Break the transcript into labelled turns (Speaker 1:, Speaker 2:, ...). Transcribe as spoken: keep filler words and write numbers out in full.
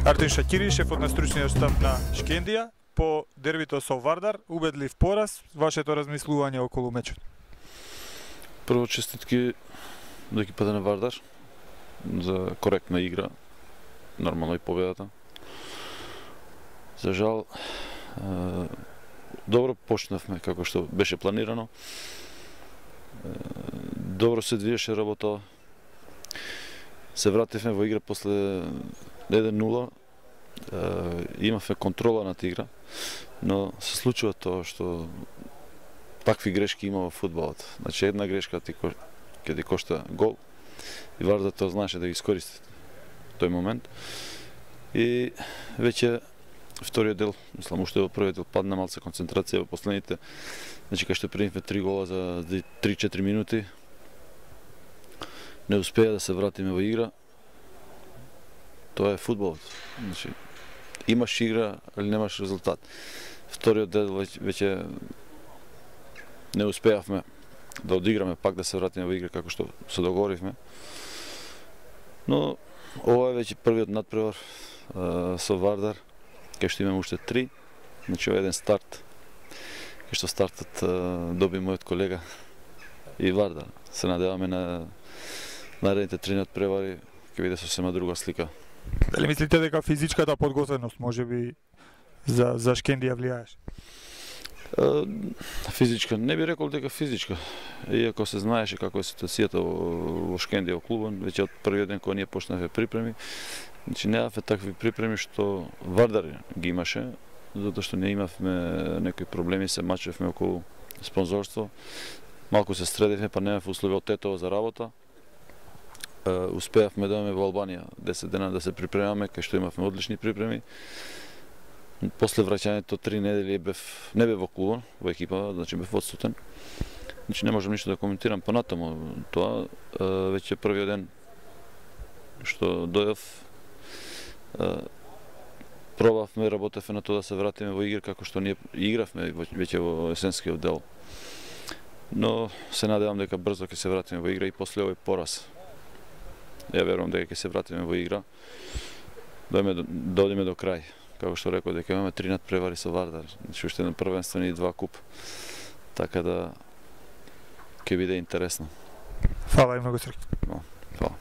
Speaker 1: Артем Шакири, шефот на стручниот штаб на Шкендија, по дербито со Вардар, убедлив пораз, вашето размислување околу мечот?
Speaker 2: Прво честитки до екипата на Вардар за коректна игра, нормално и победата. За жал, добро почнавме како што беше планирано. Добро се движеше работа. Се вративме во игра после еден нула. Имавме контрола над игра, но се случува тоа што такви грешки има во фудбалот. Значи една грешка ти ќе ти кошта гол и Вардар тоа знаеше да ги искористи тој момент. И веќе вториот дел, мислам уште во првиот дел падна малце концентрација во последните. Значи кај што примивме три гола за три-четири минути, не успеа да се вратиме во игра. Тоа е фудбалот. Значи имаш игра, али немаш резултат. Вториот дел веќе не успеавме да одиграме, пак да се вратиме во игра како што се договоривме. Но ова е веќе првиот надпревар со Вардар, кај што имаме уште три. Значи ова е еден старт, кај што стартот доби мојот колега и Вардар. Се надеваме на наредните три надпревари, ќе биде сосема друга слика.
Speaker 1: Дали мислите дека физичката подготвеност можеби за за Шкендија влијаеш?
Speaker 2: Физичка, не би рекол дека физичка. Иако се знаеше како е ситуацијата во Шкендија во клубот, веќе од првиот ден кога ние почнавме припреми, значи неавме такви припреми што Вардар ги имаше, затоа што не имавме некои проблеми, се мачевме околу спонзорство. Малку се средивме, па немавме услови од Тетово за работа. Успеавме да имаме во Албанија десет дена да се припремаме, кај што имавме одлични припреми. После враќањето три недели бев не бев во клубот, во екипа, значи бев одсутен. Значи не можам ништо да коментирам понатаму тоа. Веќе првиот ден што дојдов, пробавме, работевме на тоа да се вратиме во игра како што ние игравме веќе во есенскиот дел. Но се надевам дека брзо ќе се вратиме во игра и после овој пораз. Ја верувам дека ќе се вратиме во игра, да одиме до крај. Како што реков, дека имаме три надпревари со Вардар, значи уште еден првенствен и два куп. Така да ќе биде интересно.
Speaker 1: Фала и многу среќа.
Speaker 2: Фала.